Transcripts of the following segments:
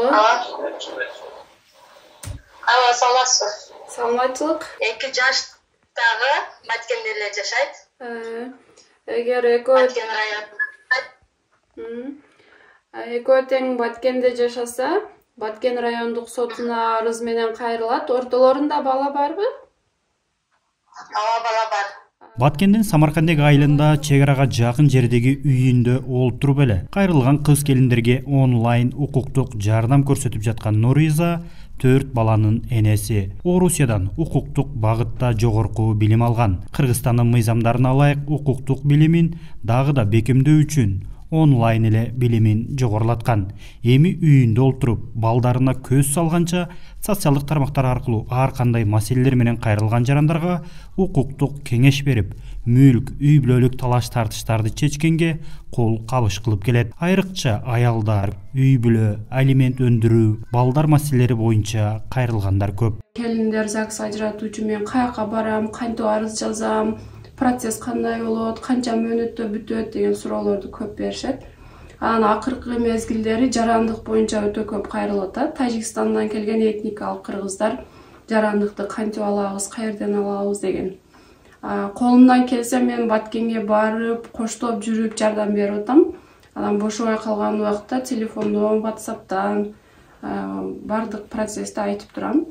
Алло, саламатсызбы? Саламатчылык. 2 жаштагы Баткенде эле жашайт. Эгер экөө Баткен районунда. экөө тең Баткенде жашаса, Баткен райондук сотуна арыз менен кайрылат. Ортолорунда бала барбы? Ооба, бала бар. Баткендин Самаркандек айылында чек арага жакын жердеги үйүндө олтуруп эле кайрылган кыз келиндерге онлайн укуктук жардам көрсөтүп жаткан Нуриза 4 баланын энеси. Орусиядан укуктук багытта жогорку билим алган. Кыргызстандын мыйзамдарына ылайык укуктук билимин дагы да бекемдөө үчүн онлайн эле билимин жогорулаткан. Эми үйүндө олтуруп, балдарына көз салганча социалдык тармактар аркылуу ар кандай маселелер менен кайрылган жарандарга укуктук кеңеш берип, мүлк, үй бүлөлүк талаш тартыштарды чечкенге кол кабыш кылып келет. Айрыкча аялдар, үй бүлө, алимент өндүрүү, балдар маселелери боюнча кайрылгандар көп. Келиндер ЗАГС ажыратуучу мен каяка барам, кантип арыз жазам, процесс кандай болот, канча мөөнөттө бүтөт деген суроолорду көп беришет. Анан акыркы мезгилдери жарандык боюнча өтө көп кайрылып атат. Тажикстандан келген этникалык кыргыздар жарандыкты кантип алабыз, каерден алабыз деген. Колумдан келсе мен Баткенге барып, коштоп жүрүп жардам берип атам. Анан бошобой калган убакта телефондон, WhatsApp'тан бардык процессти айтып турам.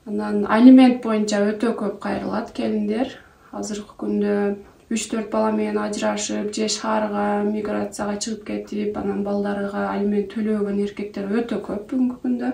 Анан алимент боюнча өтө көп кайрылат келиндер. Азыркы күндө 3-4 бала менен ажырашып, же шаарга, миграцияга чыгып кетип, анан балдарга алимент төлөбөгөн эркектер өтө көп бүгүнкү күндө.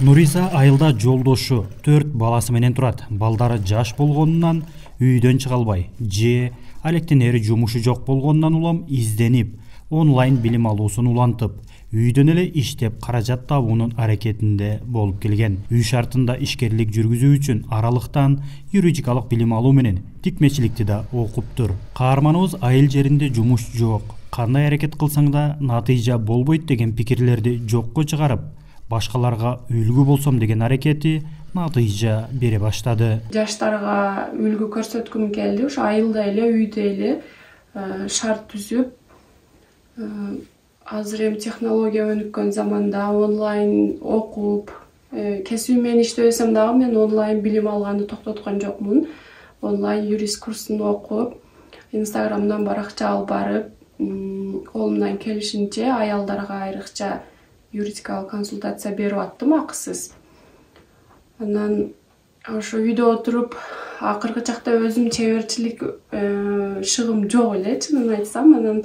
Нуриза айылда жолдошу 4 баласы менен турат. Балдары жаш болгонунан үйдөн чыга албай, же алектенери жумушу жок болгонунан улам изденип, онлайн билим алуусун улантып, үйдөн эле иштеп каражат табуунун аракетинде болуп келген. Үй шартында ишкерлик жүргүзүү үчүн аралыктан юридикалык билим алуу менен тикмечиликти да окуптур. Каарманыбыз айыл жеринде жумуш жок, кандай аракет кылсаң да натыйжа болбойт деген пикирлерди жокко чыгарып, башкаларга үлгү болсом деген аракети натыйжа бере баштады. Жаштарга үлгү көрсөткүм келди. Ошо айылда эле, үйдө эле шарт түзүп, азыр эми технология өнүккөн заманда онлайн окуп, кесиби менен иштебесем дагы мен онлайн билим алганды токтоткон жокмун. Онлайн юрист курсун окуп, Инстаграмдан баракча алып барып, колумдан келишинче аялдарга айрыкча юридикалык консультация берип аттым акысыз. Анан ошо үйдө отуруп, акыркы чакта өзүм чеберчилик шыгым жок эле, чынын айтсам. Анан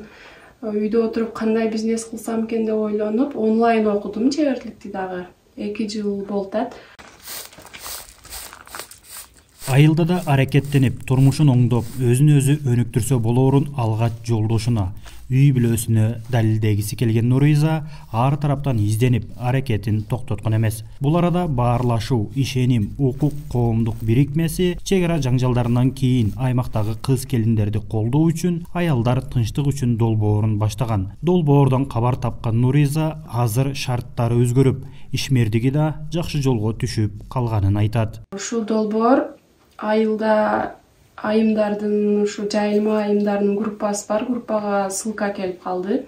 үйдө отуруп кандай бизнес кылсам экен деп ойлонуп, онлайн окудум чеберликти дагы. 2 жыл болуп атат. Айылда да аракеттенип, турмушун оңдоп, өзүн өзү өнүктүрсө болоорун алгач жолдошуна, үй бүлөсүнө далилдегиси келген Нуриза ар тараптан изденип, аракетин токтоткон эмес. Бул арада баарлашуу, ишеним, укук коомдук бирикмеси чек ара жаңжалдарынан кийин аймактагы кыз келиндерди колдоо үчүн аялдар тынчтык үчүн долбоорун баштаган. Долбоордон кабар тапкан Нуриза азыр шарттары өзгөрүп, ишмердиги да жакшы жолго түшүп калганын айтат. Ушул долбоор айылда айымдардын, ушу жайылма айымдардын группасы бар, группага ссылка келип калды.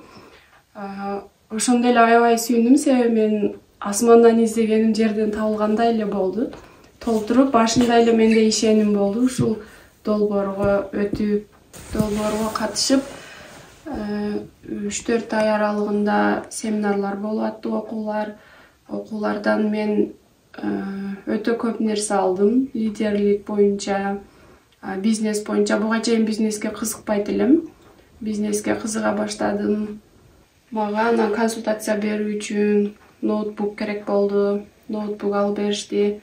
Ошондо эле аябай сүйүндүм, себеби мен асмандан издегеним жерден табылгандай эле болду. Толтуруп, башында эле менде ишеним болду. Ушул долбоорго өтүп, долбоорго катышып, 3-4 ай аралыгында семинарлар болуп атты, окуулардан мен өтө көп нерсе алдым. Лидерлик боюнча, бизнес боюнча. Буга чейин бизнеске кызыкпайт элем. Бизнеске кызыга баштадым. Мага анан консультация берүү үчүн ноутбук керек болду. Ноутбук алып беришти,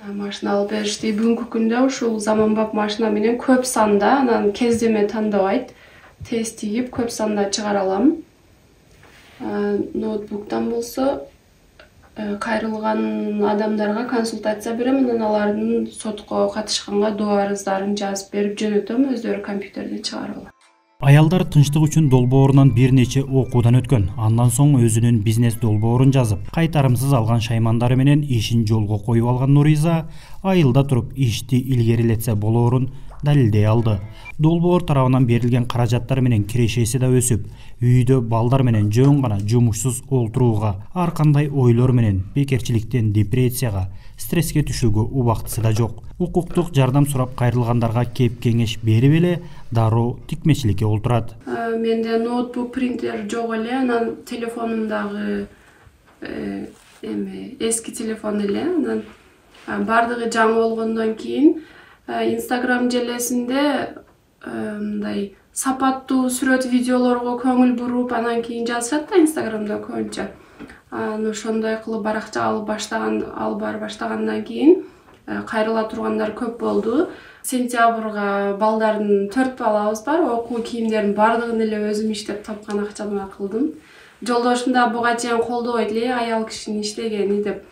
машина алып беришти. Бүгүнкү күндө ушул заманбап машина менен көп санда, анан кездеме тандабайт, тез тигип көп санда чыгара алам. Ноутбуктан болсо кайрылган адамдарга консультация берем, анан алардын сотко катышканга доо арыздарын жазып берип жөнөтөм, өздөрү компьютерден чыгарып алат. Аялдар тынчтык үчүн долбоорунан бир нече окуудан өткөн. Андан соң өзүнүн бизнес долбоорун жазып, кайтарымсыз алган шаймандары менен ишин жолго коюп алган Нуриза айылда туруп ишти илгерилетсе болоорун далилдей алды. Долбоор тарабынан берилген каражаттар менен кирешеси да өсүп, үйдө балдар менен жөн гана жумушсуз олтурууга, ар кандай ойлор менен бекерчиликтен депрессияга, стресске түшүүгө убактысы да жок. Укуктук жардам сурап кайрылгандарга кеп кеңеш берип эле дароо тикмечиликке олтурат. Менде ноутбук, принтер жок эле, анан телефонумдагы эски телефон эле, анан бардыгы жаңы болгондон кийин Instagram желесинде мындай сапаттуу сүрөт видеолорго көңүл буруп, анан кийин жазышат да Instagramда көбүнчө. Ошондой кылып баракча алып бара баштагандан кийин кайрыла тургандар көп болду. Сентябрга балдардын 4 балабыз бар, окуу кийимдерин бардыгын эле өзүм иштеп тапкан акчамда кылдым. Жолдошум да буга чейин колдобойт эле, аял кишинин иштегени деп.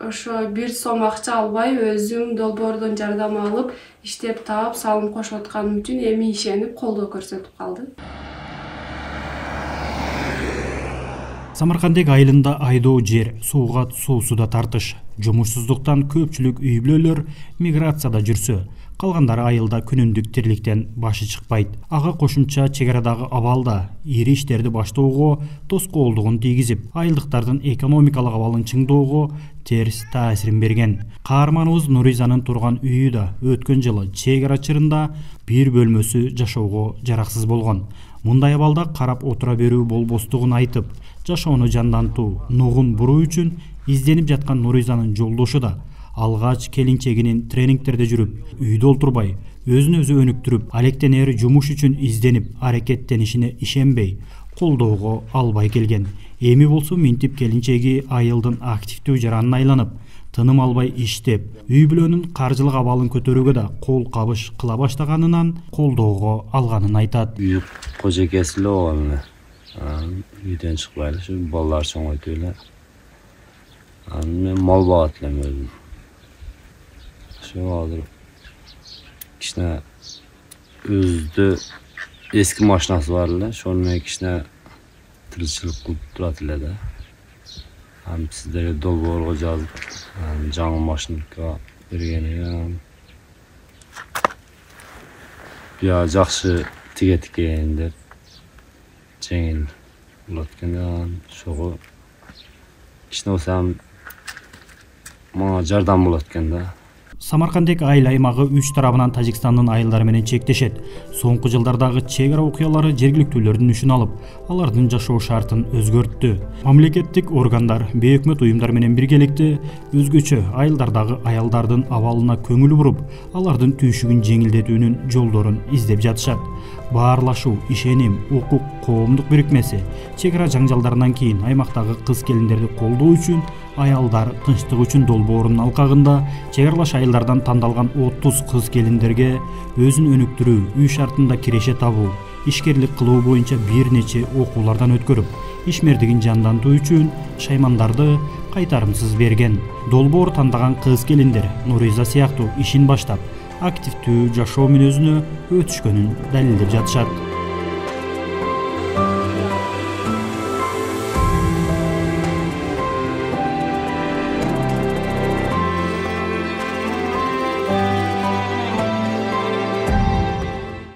Ошо 1 сом акча албай өзүм долбоордон жардам алып, иштеп таап, салым кошуп атканым үчүн эми ишенип колдоо көрсөтүп калды. Самаркандек айылында айдоо жер, сууга суусуда тартыш. Жумушсуздуктан көпчүлүк үй бүлөлөр миграцияда жүрсө, калгандары айылда күнүндүк тирликтен башы чыкпайт. Ага кошумча чек арадагы абалда ири иштерди баштоого тоскоолдугун тийгизип, айылдыктардын экономикалык абалын чыңдоого терс таасирин берген. Каарманыбыз Нуризанын турган үйү да өткөн жылы чек ара чырында бир бөлмөсү жашоого жараксыз болгон. Мындай абалда карап отура берүү болбостугун айтып, жашоону жандантуу, нугун буруу үчүн изденип жаткан Нуризанын жолдошу да алгач келинчегинин тренингтерде жүрүп, үйдө олтурбай, өзүн өзү өнүктүрүп, алектенери жумуш үчүн изденип, аракеттенишине ишенбей, колдоого албай келген. Эми болсо минтип келинчеги айылдын активдүү жаранына айланып, тыным албай иштеп, үй бүлөнүн каржылык абалын көтөрүүгө да кол кабыш кыла баштаганынан колдоого алганын айтат. Үй кожекеси эле болгон эле. Үйдөн чыкпай эле, балдар чоңойт эле. Мен мал багат элем өзүм. Азыр кичине өзүдө эски машинасы бар эле, ошол менен кичине тиричилик кылып турат эле да. Сиздерге долбоорго жазып, жаңы машинка бергени. Бия жакшы тигет экен деп жеңил болот экен. Ошого кичине болсо мага жардам болот экен да. Самаркандек айыл аймагы 3 тарабынан Тажикстандын айылдары менен чектешет. Соңку жылдардагы чек ара окуялары жергиликтүүлөрдүн үшүн алып, алардын жашоо шартын өзгөрттү. Мамлекеттик органдар, бейөкмөт уюмдар менен биргеликте өзгөчө айылдардагы аялдардын абалына көңүл буруп, алардын түйшүгүн жеңилдетүүнүн жолдорун издеп жатышат. Баарлашуу, ишеним, укук коомдук бирикмеси чек ара жаңжалдарынан кийин аймактагы кыз келиндерди колдоо үчүн аялдар тынчтык үчүн долбоорунун алкагында чек аралаш айылдардан тандалган 30 кыз келиндерге өзүн өнүктүрүү, үй шартында киреше табуу, ишкерлик кылуу боюнча бир нече окуулардан өткөрүп, ишмердигин жандантуу үчүн шаймандарды кайтарымсыз берген. Долбоор тандаган кыз келиндер Нуриза сыяктуу ишин баштап, активдүү жашоо мүнөзүнө өтүшкөнүн далилдеп жатышат.